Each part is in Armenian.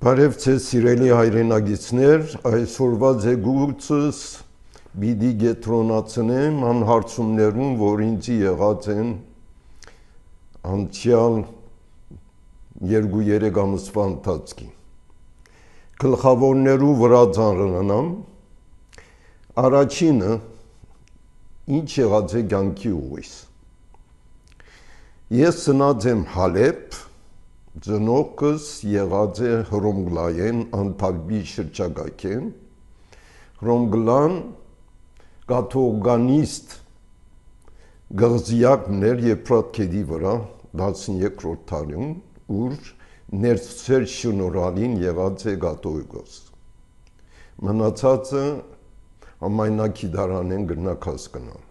Բարև ձեզ սիրելի հայրենագիտներ, այսօրվա ձեգուցս բիդի գետրոնացնեմ անհարցումներում, որ ինձի եղած են անցյալ 2-3 ամսվա ընթացքին։ Գլխավորներու վրա ծանրանամ, առաջինը ինչ եղած է կյանքի ուղիս։ Ես ծնած եմ Հալեբ, ծնողքս եղած է Հռոմգլայեն Անտալբի շրջակայքեն, Հռոմգլան կաթողանիստ գղզիակներ Եփրատ քեդի վրա 13-րդ դարում, ուր ներծեր շնորհալին եղած է կաթողիկոս։ Մնացածը համայնակիդարանեն գրնակ հասկանալ։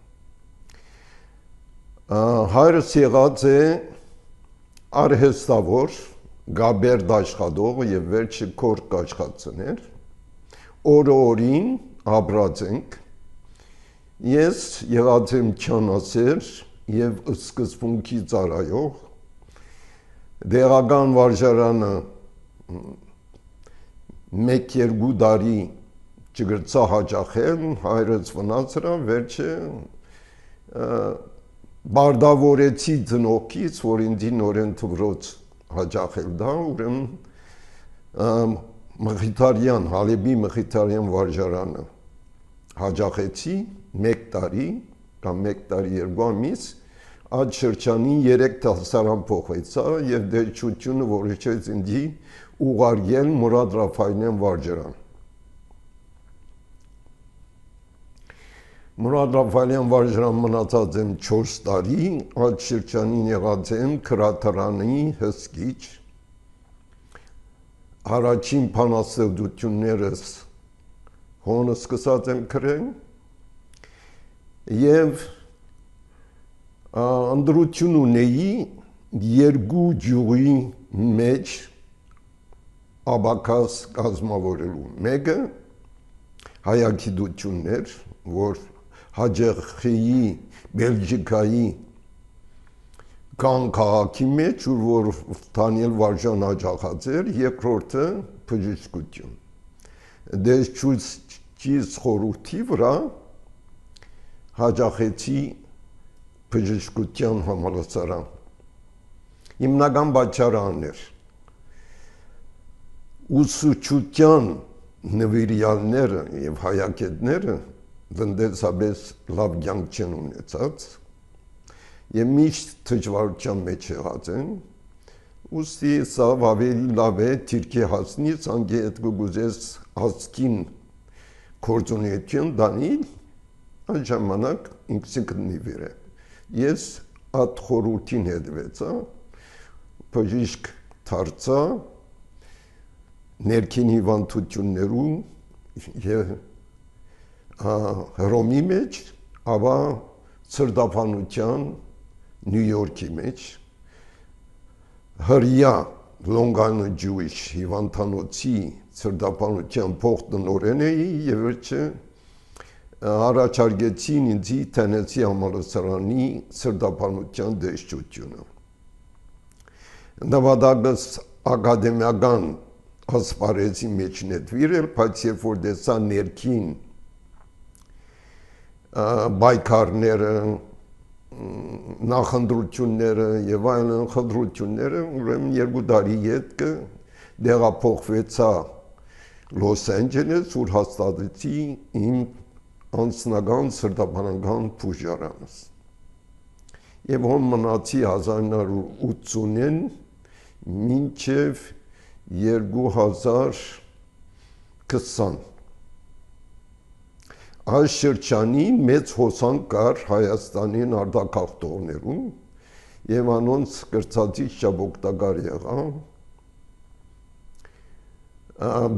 Հայրս եղած է արհեստավոր, գաբերդ աշխատող եւ վերջը կորկ աշխատցներ, օրին ապրած ենք, ես եղած եմ չանասեր եւ սկզբունքի ծառայող, դեղական վարժարանը 1-2 տարի չգրծա հաճախել, հայրս վնասրա, վերջը բարդավորեցի ծնողքից, որ ինձի նորեն թվրոց հաճախել դա, ուրեմն Մխիթարյան, Հալեբի Մխիթարյան վարժարանը հաճախեցի 1 տարի կամ 1 տարի 2 ամիս, այդ շրջանին 3 դասարան փոխվեցա եւ դերչությունը որոշեց ինձի ուղարկել Մուրադ Ռաֆայելյան վարժարան։ Մուրադ Ռաֆայելյան վարժարան մնացած եմ 4 տարի, այդ շրջանին եղած եմ քրաթարանի հսկիչ, առաջին բանաստեղծություններս հոնը սկսած եմ գրել եւ անդրություն ունեի 2 ջուղի մեջ աբակաս կազմավորելու, մեկը հայագիտություններ, որ հաջախեի Բելգիկայի կան քաղաքի մեջ, որ Դանիել Վարժան հաջախած էր, երկրորդը բժշկություն։ Դեշչուց խորհրդի վրա հաջախեցի բժշկության համալսարան։ Հիմնական պատճառներ ուսուցչության նվիրյալները եւ հայագետները տնտեսապես լավ կյանք չեն ունեցած եւ միշտ դժվարության մեջ եղած են, ուստի սա ավելի լավ է թիրքի հասնի, ցանկի հետ գուզես հասկին կորձունեություն դանիլ, այդ ժամանակ ինքսին կնիվեր է։ Ես այդ խորհրդին հետվեցա, բժիշկ դարձա, ներքին հիվանդություններու եւ Հռոմի մեջ, ապա ցրտափանության Նյու Յորքի մեջ, հրյա Long Island Jewish հիվանդանոցի ցրտափանության փոխտնօրեն էի եւ վերջը առաջարկեցին ինձի Թենեսի համալսարանի ցրտափանության դեշչությունը։ Նավադագս ակադեմիական ասպարեզի մեջ նետվիրել, բայց երբ որ դեսա ներքին բայկարները, նախընտրությունները եւ այլն խնդրությունները, ուրեմն 2 տարի հետո դեղափոխվեցա Լոս Անջելես, ուր հաստատեցի իմ անձնական սրտաբանական բուժարանս։ Եվ հոն մնացի 1980-ին մինչև 2020 այս շրջանին մեծ հոսանք կար Հայաստանին արտագաղթողներում եւ անոնց կրծածից շաբոկտակար եղա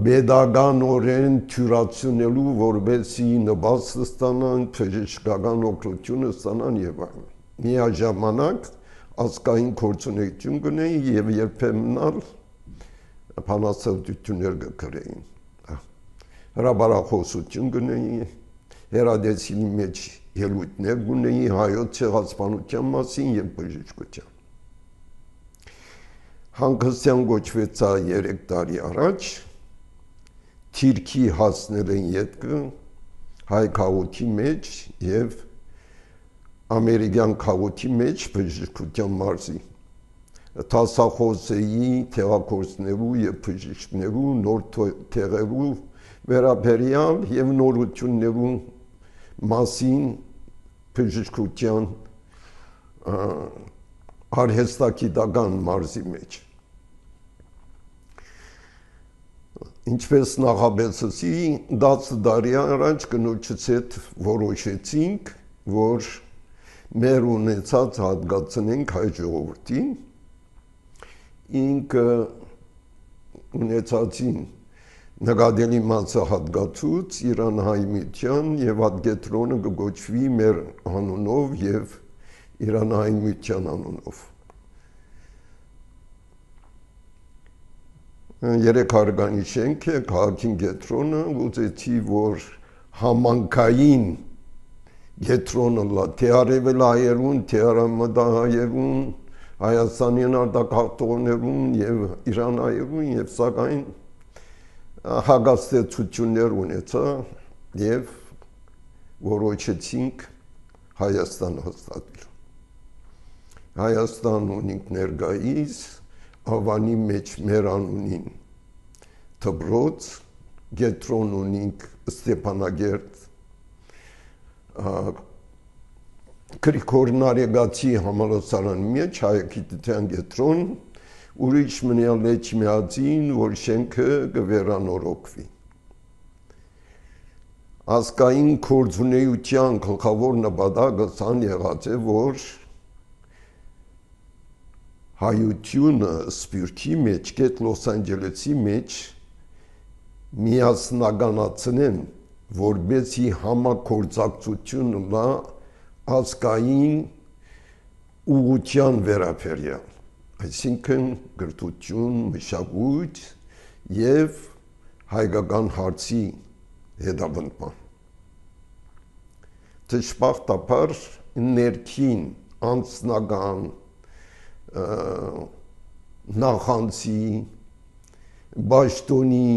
բեդագանորեն թյուրացնելու, որբեսի նպաստ ստանան, բժշկական օգնություն ստանան եւ այլն։ Միաժամանակ ազգային գործունեություն գնեի եւ երբեմն բանաստեղծություններ գրեին։ Հրաբարախոսություն գնեի, հերադեսիլի մեջ ելույթներ գունեի հայոց ցեղասպանության մասին եւ բժշկության։ հանգստյան գոչվեց 3 տարի առաջ, թիրքի հասնել են ետքը հայ քաղաքի մեջ և ամերիկյան քաղաքի մեջ բժշկության մարզի, տասախոսեի տեղակորցնելու և բժիշկներու նոր տեղերու վերաբերյալ և նորություններու մասին բժշկության արհեստագիտական մարզի մեջ։ Ինչպես նախաբեցեցի, 10 տարի առաջ կնոջից հետ որոշեցինք, որ մեր ունեցած հատկացնենք հայ ժողովրդին, ինքը ունեցածին նկատելի մասը հատկացուց Իրանահայ միության և այդ կենտրոնը կգոչվի մեր անունով և Իրանահայ միության անունով։ 3 հարգանի շենք է, քաղաքին կենտրոնը, ուզեցի, որ համանքային կենտրոնը լա, թե արևելահայերուն, թե արևմտահայերուն, Հայաստանյան արտագաղթողներուն և իրանահայերուն և սակայն հագաստեցություններ ունեցա և որոշեցինք Հայաստան հաստատել։ Հայաստան ունենք ներկայիս, Ավանի մեջ մեր անունին դպրոց, կենտրոն ունենք Ստեփանագերտ, Գրիգոր Նարեգացի համալսարանի մեջ հայագիտության կենտրոն, ուրիշ մնալ էջ միածին, որ շենքը կվերանորոգվի։ Ազգային գործունեության գլխավոր նպատակը ցան եղած է, որ հայությունը սփյուռքի մեջ, գետ Լոս Անջելեսի մեջ միասնականացնեն, որբեսի համագործակցությունը լա ազգային ուղղության վերաբերյալ, այսինքն կրթություն, մշակույթ և հայկական հարցի հետապնդման։ Դժբախտաբար ներքին անձնական նախանձի, պաշտոնի,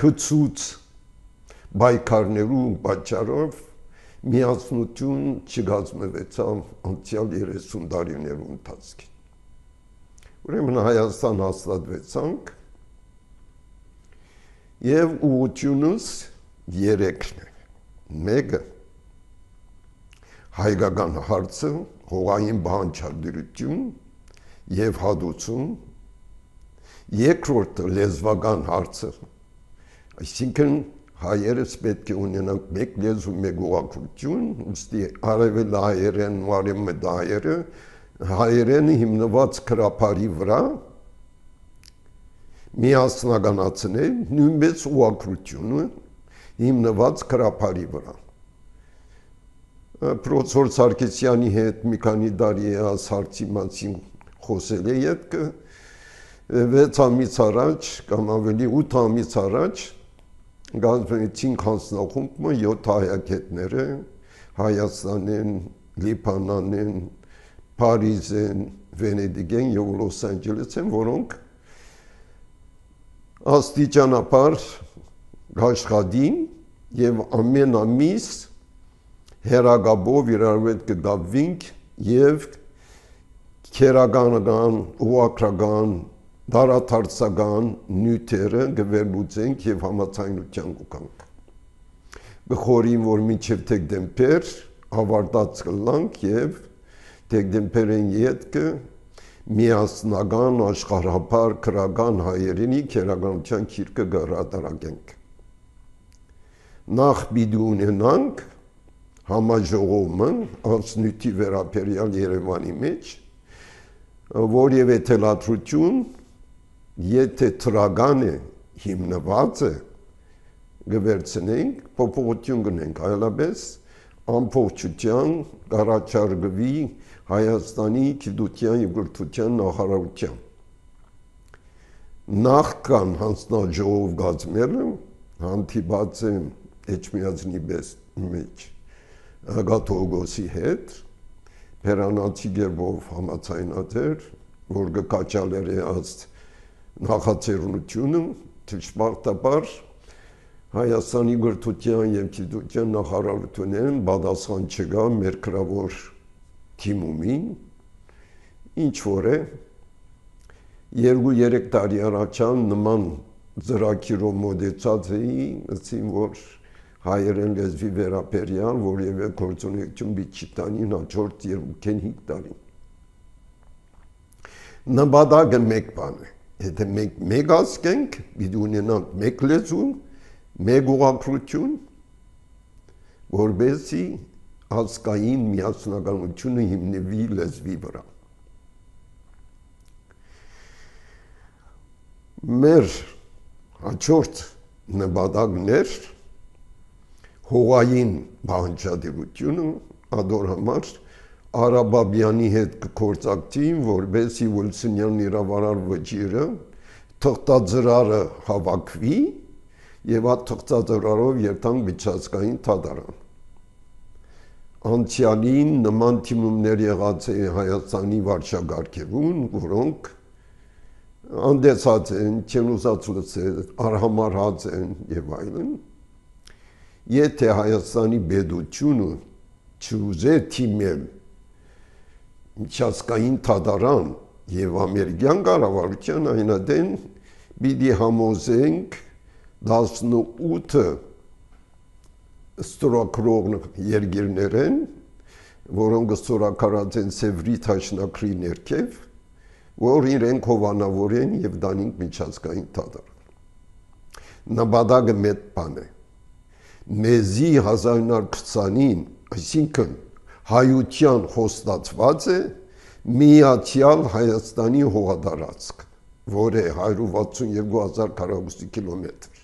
քծուց պայքարներու պատճառով միասնություն չկազմվեցավ անցյալ 30 տարիներու ընթացքին։ Ուրեմն Հայաստան հաստատվեցանք և ուղղությունս 3-ն է։ Մեկը հայկական հարցը, հողային բանջարդիրություն և հատուցում, երկրորդը լեզվական հարցը, այսինքն հայերս պետք է ունենանք մեկ լեզու, մեկ ուղղություն, ուստի արևելահայերեն ու արևմտահայերը հայերենը հիմնված քրափարի վրա միասնականացնել, նույնպես ուղղությունը հիմնված քրափարի վրա։ Պրոֆեսոր Սարգսյանի հետ մի քանի տարի այս հարցի մասին խոսել է ետքը, 6 ամիս առաջ կամ ավելի 8 ամիս առաջ կազմեցինք հանձնախումբը 7 հայագետները Հայաստանեն, Լիբանանեն, Փարիզեն, Վենետիկեն և Լոս Անջելեսեն, որոնք աստիճանաբար աշխատին և ամեն ամիս հեռագաբով իրար հետ կգաբվինք և քերականական, ուղղակրական, դարադարձական նյութերը կվերլուծենք և համաձայնության կգանք։ Կխորին, որ մինչև դեկտեմբեր ավարտած կլանք և դեկտեմբերին ետքը միասնական աշխարհափար քրական հայերենի քերականության գիրքը կհրատարակենք։ Նախ պիտի ունենանք համաժողովը անձնույթի վերաբերյալ Երևանի մեջ, որևէ թելադրություն, եթե թրական է, հիմնված է, կվերցնենք, փոփոխություն կնենք, այլապես ամբողջության կառաջարկվի Հայաստանի գիտության և կրթության նախարարության։ Նախքան հանձնաժողով կազմելը հանդիպած եմ Էջմիածնի մեջ Գաթողիկոսի հետ, Փերանացի գերբով համաձայնած էր, որ կկաչալեր այս նախաձեռնությունը, ճշմարտաբար Հայաստանի գրթության և գիտության նախարարությունեն պատասխան չկա մեր գրավոր թիմումին, ինչ որ է 2-3 տարի առաջան նման ծրագիրով մոտեցած էի, ասին որ հայերեն լեզվի վերաբերյալ որևէ գործունեություն պիտի տանին հաջորդ 2-5 տարի։ Նպատակը մեկ բան է, եթե մենք մեկ ասկենք, պիտի ունենանք մեկ լեզու, մեկ ուղղագրություն, որպեսզի ազգային միասնականությունը հիմնվի լեզվի վրա։ Մեր հաջորդ նպատակն էր հողային բանջարությունը, ադոր համար Արաբաբյանի հետ կգործակցեին, որպեսզի Վիլսոնյան իրավարար վճիռը թղթաձրարը հավաքվի եւ այդ թղթաձրարով երթանք միջազգային դատարան։ Անցյալին նման թիմումներ եղած է Հայաստանի վարչագահներուն, որոնք անդեսած են, չենուսացուց են, արհամարհած են եւ այլն։ Եթե Հայաստանի պետությունը չուզե թիմել միջազգային դատարան եւ ամերիկյան կառավարության այնադեն պիտի համոզենք 18 ստորագրող երկիրներեն, որոնք ստորագրած են Սևրի թաշնակրի ներքև, որ իրենք հովանավորեն եւ դանինք միջազգային դատարան։ Նպատակը մեծ բան է։ Մեզի 1920-ին, այսինքն հայության խոստացված է միացյալ Հայաստանի հողատարածք, որ է 162,000 քառակուսի կիլոմետր։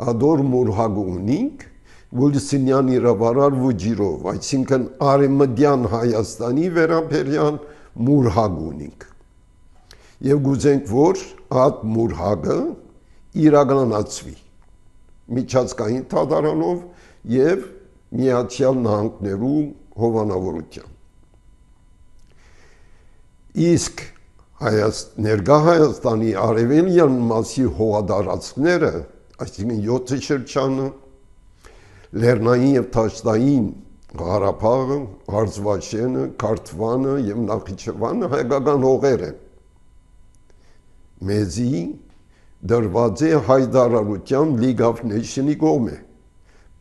Ադոր մուրհագ ունինք Վիլսոնյան իրավարար վճիռով, այսինքն Արևմտյան Հայաստանի վերաբերյալ մուրհագ ունինք։ Եվ գուզենք, որ այդ մուրհագը իրականացվի միջազգային դատարանով եւ Միացյալ Նահանգներու հովանավորությամբ։ Իսկ ներկա Հայաստանի արևելյան մասի հողատարածքները, այսինքն 7 շրջանը, Լեռնային եւ Թաշտային Ղարաբաղը, Արցախը, Քարթվանը եւ Նախիջևանը հայկական հողեր են։ Մեզի դրված է հայտարարությամբ League of Nations-ի կողմէ,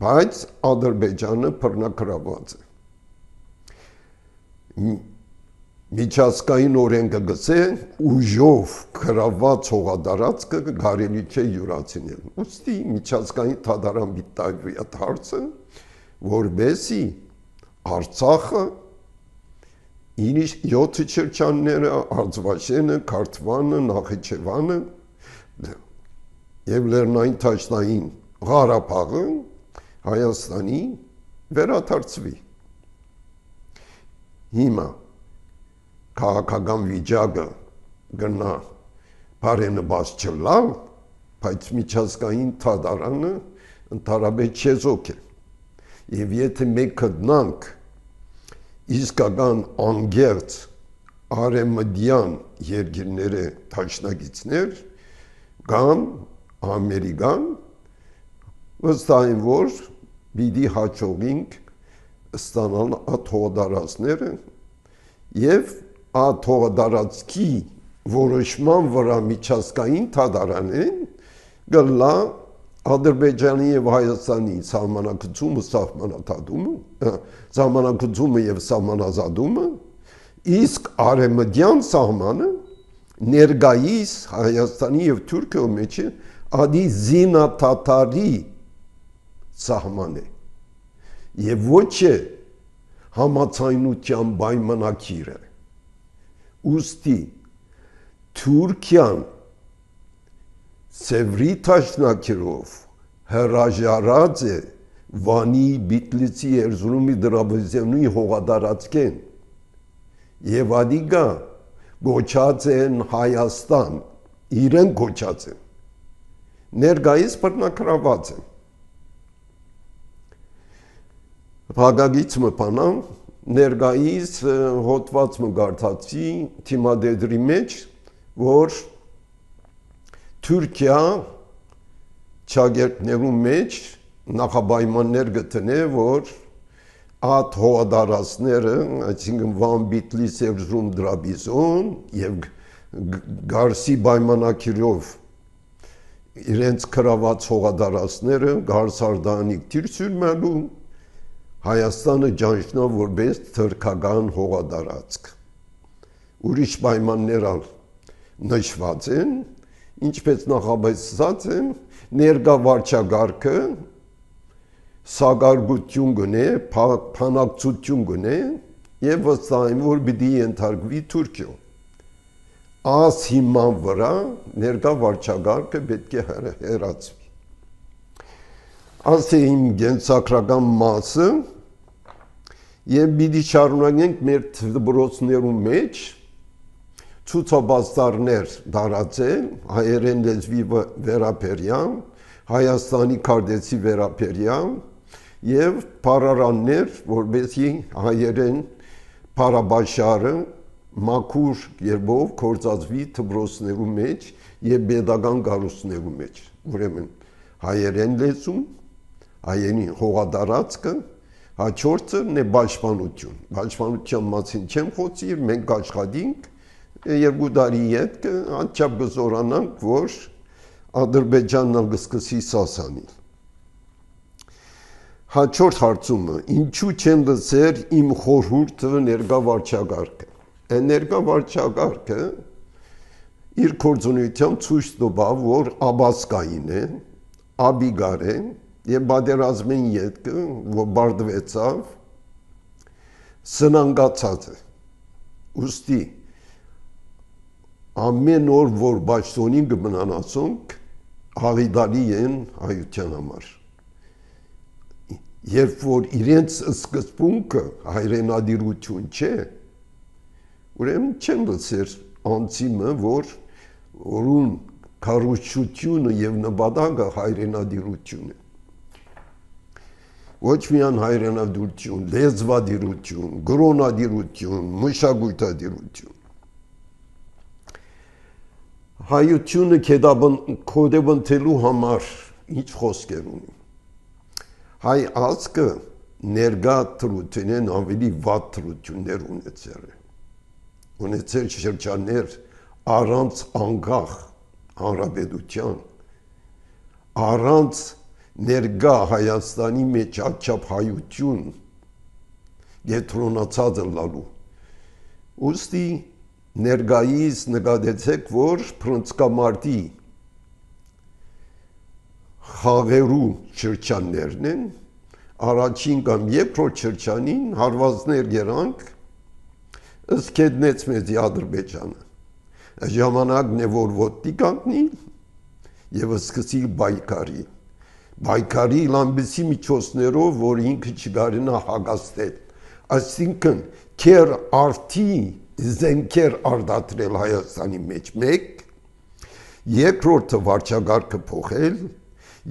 բայց Ադրբեջանը բռնագրաված է։ Միջազգային օրենքը գսե ուժով գրաված հողատարածքը կարելի չէ յուրացնել։ Ուստի միջազգային դատարան պիտի այդ հարցը, որպեսզի Արցախը, 7 շրջանները, Արցախը, Քարթվանը, Նախիջևանը եւ Լեռնային Թաշտային Ղարաբաղը Հայաստանի վերադարձվի։ Հիմա քաղաքական վիճակը գնա բարենպաստ չլալ, բայց միջազգային դատարանը ընդհանրապես չեզոք է։ Եվ եթե մենք գտնանք իսկական անգերց արևմտյան երկիրները դաշնակիցներ կամ Ամերիկան, վստահ եմ, որ պիտի հաջողենք ստանալ այդ հողատարածքները եւ այդ հողատարածքի որոշման վրա միջազգային դատարանին գլա Ադրբեջանի եւ Հայաստանի սահմանակցումը եւ սահմանազատումը, իսկ արևմտյան սահմանը ներկայիս Հայաստանի եւ Թուրքիայի մեջ ադի զինաթաթարի սահման է եւ ոչ է համացայնության պայմանագիր է։ Ուստի Թուրքիան Սևրի թաշնակիրով հրաժարած է Վանի, Բիտլիցի, Էրզրումի, Դրաբեզյանի հողատարածքեն եւ ադիգա գոչած են Հայաստան, իրեն գոչած են, ներկայիս բռնագրաված են։ Փակագից մպանան ներգայիս հոդված մգարտացի թիմադեդրի մեջ, որ Թուրքիա չագերտներու մեջ նախապայմաններ գտնե, որ այդ հողադարածները, այսինքն Վան, Բիտլիս եւ Զրում Դրաբիզոն եւ Գարսի պայմանակիրով իրենց կրաված հողադարածները Գարսարդանիկ թիրսյուրմելու Հայաստանը ճանչնա որպես թրքական հողադարածք։ Ուրիշ պայմաններ նշված են, ինչպես նախաբացած են, ներկա վարչագարկը սագարգություն գնե, փանակցություն գնե եւ վստահեն, որ պիտի ենթարկվի Թուրքիա։ Աս հիման վրա ներկա վարչագարկը պետք է հեռացվի։ Աս է իմ գենսակրական մասը եւ պիտի շարունակենք մեր դպրոցներու մեջ ցուցաբաստարներ դարածել հայերեն լեզվի վերաբերյալ, Հայաստանի քարտեզի վերաբերյալ եւ փառարաններ, որովհետեւ հայերեն փառաբաշարը մաքուր երբով կործածվի դպրոցներու մեջ եւ pedagogan գարուսներու մեջ։ Ուրեմն հայերեն լեզուն, հայերեն հողադարածքը, հաջորդը նե պաշտպանություն։ Պաշտպանության մասին չեմ խոսիր, մենք աշխատենք երկու տարի հետ անչափ գզորանանք, որ Ադրբեջանն ալգսկսի սասանիլ։ Հաջորդ հարցումը, ինչու չեն լսեր իմ խորհուրդը ներկա վարչագարկը։ Ներկա վարչագարկը իր գործունեությամբ ցույց տվավ, որ աբասկային է, աբիգար է եւ բادرազմեն ետքը, որ բարդվեցավ, սնանգացած է։ Ուստի ամեն օր որ բաշխոնին կմնանացոնք հավիդալի են հայության համար։ Երբ որ իրենց սկզբունքը հայրենադիրություն չէ, ուրեմն չեն լսեր անձիմը, որուն քարոզչությունը եւ նպատակը հայրենադիրություն է։ Ոչ միայն հայրենադիրություն, լեզվադիրություն, գրոնադիրություն, մշակութադիրություն։ Հայությունը կոդեբնթելու համար ինչ խոսքեր ունի։ Հայ ազգը ներկա թրությունեն ավելի վատ թրություններ ունեցել շրջաններ առանց անկախ հանրապետության, առանց ներկա Հայաստանի մեջ աչափ հայություն եթրոնացած լալու։ Ուստի ներկայիս նկատեցեք, որ փրկամարտի խաղերու շրջաններն են, առաջին կամ երկրորդ շրջանին հարվածներ գերանք ըսկետնեց մեզի Ադրբեջանը։ Ժամանակն է, որ ոտքի կանգնի եւ սկսի բայկարի։ Բայկարի լամբեսի միջոցներով, որ ինքը չգարենա հագաստել։ Այսինքն քեր արդի զենքեր արդատրել Հայաստանի մեջ մեկ, երկրորդը վարչագարկը փոխել,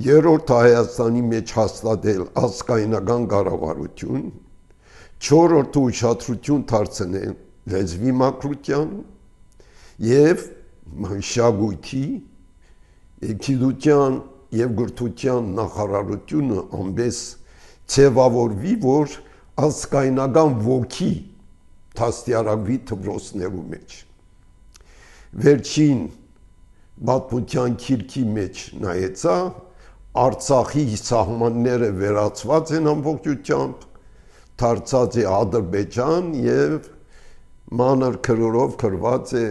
երրորդը Հայաստանի մեջ հաստատել ազգայնական կառավարություն, չորրորդը ուշադրություն դարձնել լեզվի մակրության եւ մշակույթի, գիտության եւ գրթության նախարարությունը ամբես ձևավորվի, որ ազգայնական ոգի դաստիարակվի դպրոցներու մեջ։ Վերջին պատմության քիրքի մեջ նայեցա, Արցախի սահմանները վերացված են ամբողջությամբ, դարձած է Ադրբեջան եւ մանր քրորով քրված է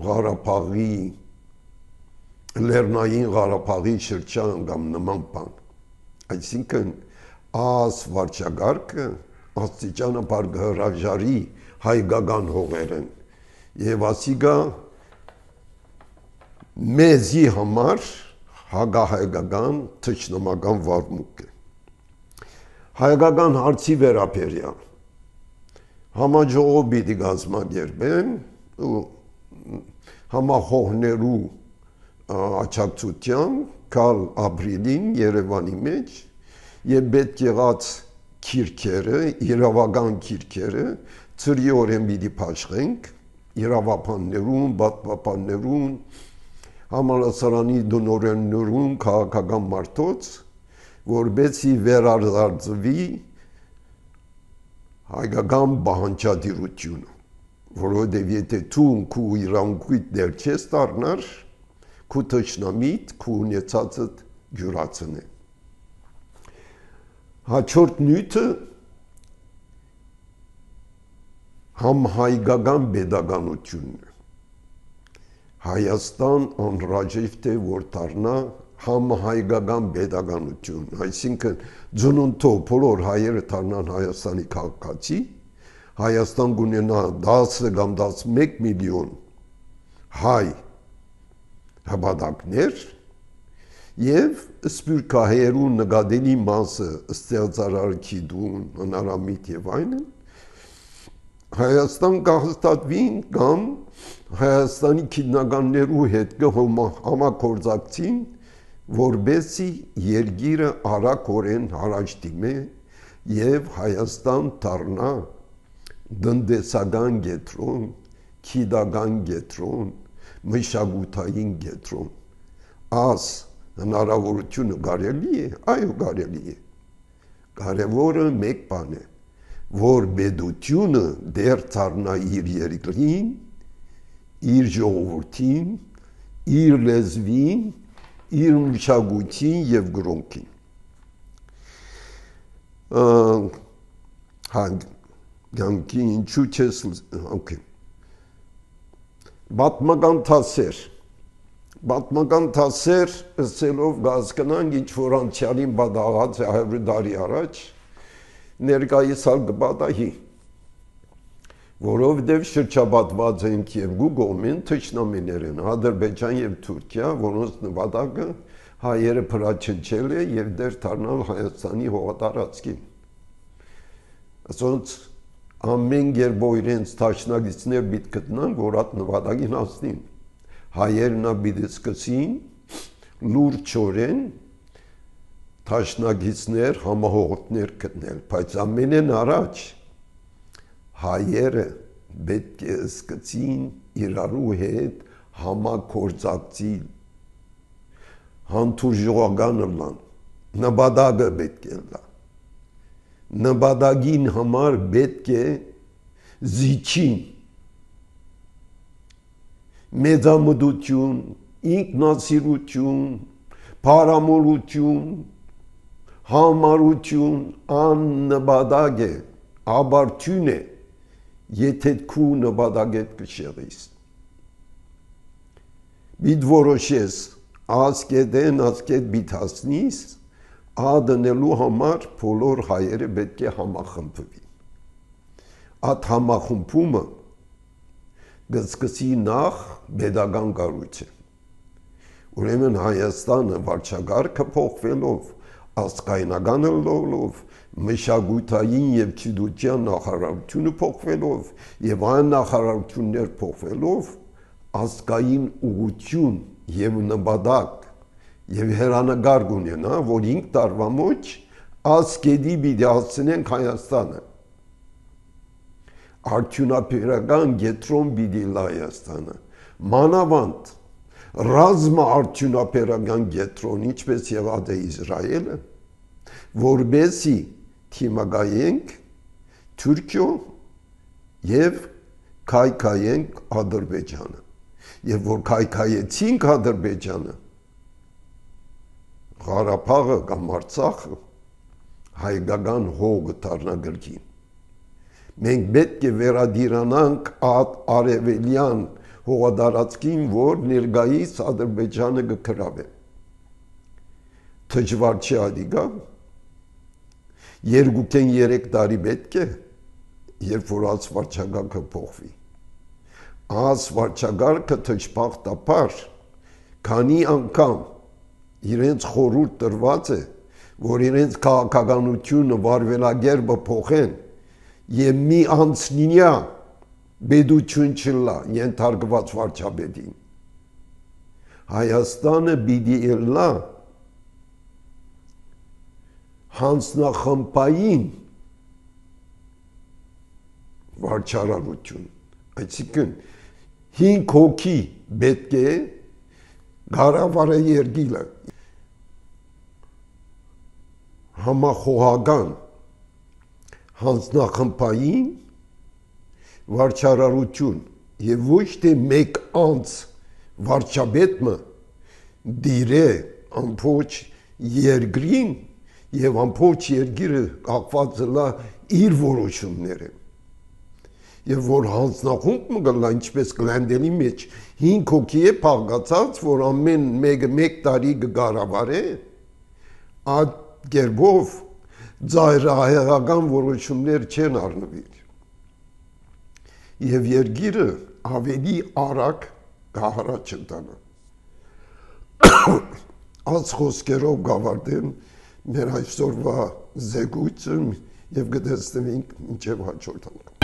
Ղարաբաղի Լեռնային Ղարաբաղի շրջան կամ նման բան։ Այսինքն աս վարչագարկը աստիճանաբար հրաժարի հայկական հողերեն եւ ասիգա մեզի համար հագահայկական թշնամական վարմունք է։ Հայկական հարցի վերաբերյալ համաժողով պիտի կազմակերպեն ու համախոհներու աջակցությամբ կալ ապրիլին Երևանի մեջ եւ պետք եղած քիրքերը, իրավական քիրքերը ծրիորեն պիտի փաշխենք իրավապաններուն, պատմապաններուն, համալսարանի դնորեններուն, քաղաքական մարդոց, որբեցի վերարձարծվի հայկական բանջարդիրությունը, որովհետև եթե դու քու իրանքույտ դեր չես դառնար, քու թշնամիտ, քու ունեցածը ջուրացնե։ Հաջորդ նյութը համահայկական pedagogiությունն է։ Հայաստան անհրաժեշտ է որ դառնա համահայկական pedagogiություն, այսինքն ծնունդով բոլոր հայերը դառնան Հայաստանի քաղաքացի, Հայաստան կունենա 10 կամ 11 միլիոն հայ հաբադակներ եւ սպյուրքահայերու նկատելի մասը ստեղծարարքի դուն հնարամիտ եւ այլն Հայաստան կհաստատվին կամ Հայաստանի քննականներու հետ համագործակցին որբեսի երկիրը արագորեն առաջ դիմե եւ Հայաստան դառնա դնդեսական գետրոն, քիդական գետրոն, մշակութային գետրոն։ Աս հնարավորությունը կարելի է, այո կարելի է։ Կարևորը մեկ բան է, որ պետությունը դեր դառնա իր երկրին, իր ժողովրդին, իր լեզվին, իր մշակույթին եւ գրոնքին։ Գանկի ինչու չես, օքեյ։ Պատմական թասեր ըսելով գազկնանք ինչ որ անցյալին բադաղած է 100 տարի առաջ, ներկայիս հալ կբադահի, որովհետև շրջապատված ենք երկու կողմին թշնամիներ են, Ադրբեջան եւ Թուրքիա, որոնց նպատակը հայերը փրաչնչել է եւ դեր դառնալ Հայաստանի հողատարածքին։ Ասոնց ամեն երբով իրենց թաշնագիցներ պիտի գտնան, որ այդ նպատակին հասնին։ Հայերն պիտի սկսին լուրջորեն թաշնագիցներ, համահողոտներ գտնել, բայց ամենեն առաջ հայերը պետք է սկսին իրարու հետ համագործակցել, հանդուրժողական լան, նպատակը պետք է լա։ Նպատակին համար պետք է զիջին մեծամտություն, ինքնասիրություն, փարամոլություն, համարություն աննպատակ է, աբարթյուն է, եթե քու նպատակետ կշեղիս։ Բիդ որոշես, ասկետ բիդ հասնիս, ադնելու համար բոլոր հայերը պետք է համախմբվի։ Այդ համախմբումը գսկսի նախ pedagogan կառույցը։ Ուրեմն Հայաստանը վարչագարքը փոխվելով, ազգայնական լոլով, մշակութային եւ գիտության նախարարությունը փոխվելով եւ այն նախարարություններ փոխվելով, ազգային ուղղություն եւ նպատակ եւ հերանագար գունենա, որ 5 տարվա մոջ ասկեդի պիտի հասցնենք Հայաստանը։ Արդյունաբերական գետրոն պիտի լա Հայաստանը։ Մանավանդ ռազմա արդյունաբերական գետրոն, ինչպես եղած է Իսրայելը, որբեսի թիմակայենք Թուրքիո եւ քայքայենք Ադրբեջանը։ Եվ որ քայքայեցինք Ադրբեջանը, Ղարաբաղը կամ Արցախը հայկական հողը դառնա գրքին։ Մենք պետք է վերադիրանանք արևելյան հողատարածքին, որ ներկայիս Ադրբեջանը կգրավե։ Դժվար չի ադիգա։ 2-3 տարի պետք է, երբ որ այս վարչագահը փոխվի։ Այս վարչագահը թշփախտաբար քանի անգամ իրենց խորհուրդ տրված է, որ իրենց քաղաքականությունը վարվելագերբը փոխեն եւ մի անցնինյա բեդություն չլա ենթարկված վարչապետին։ Հայաստանը պիտի լա հանձնախմբային վարչարարություն, այսինքն 5 հոգի պետք է գարավարը երգիլը համախոհական հանձնախմբային վարչարարություն եւ ոչ թե մեկ անց վարչապետը դիրե ամբողջ երկրին եւ ամբողջ երկիրը կապված լա իր որոշումները եւ որ հանձնախումբը գլա ինչպես գլանդելի մեջ 5 հոգի է փաղկացած որ ամեն մեկը մեկ տարի կգարավարե այդ գերբով ծայրահեղական որոշումներ չեն առնվիր եւ երկիրը ավելի արագ կհարաճ ընտանա այս խոսքերով գավարտեմ մեր այսօրվա զեկույցը եւ կտեսնենք ինչեւ հաջորդ անգամ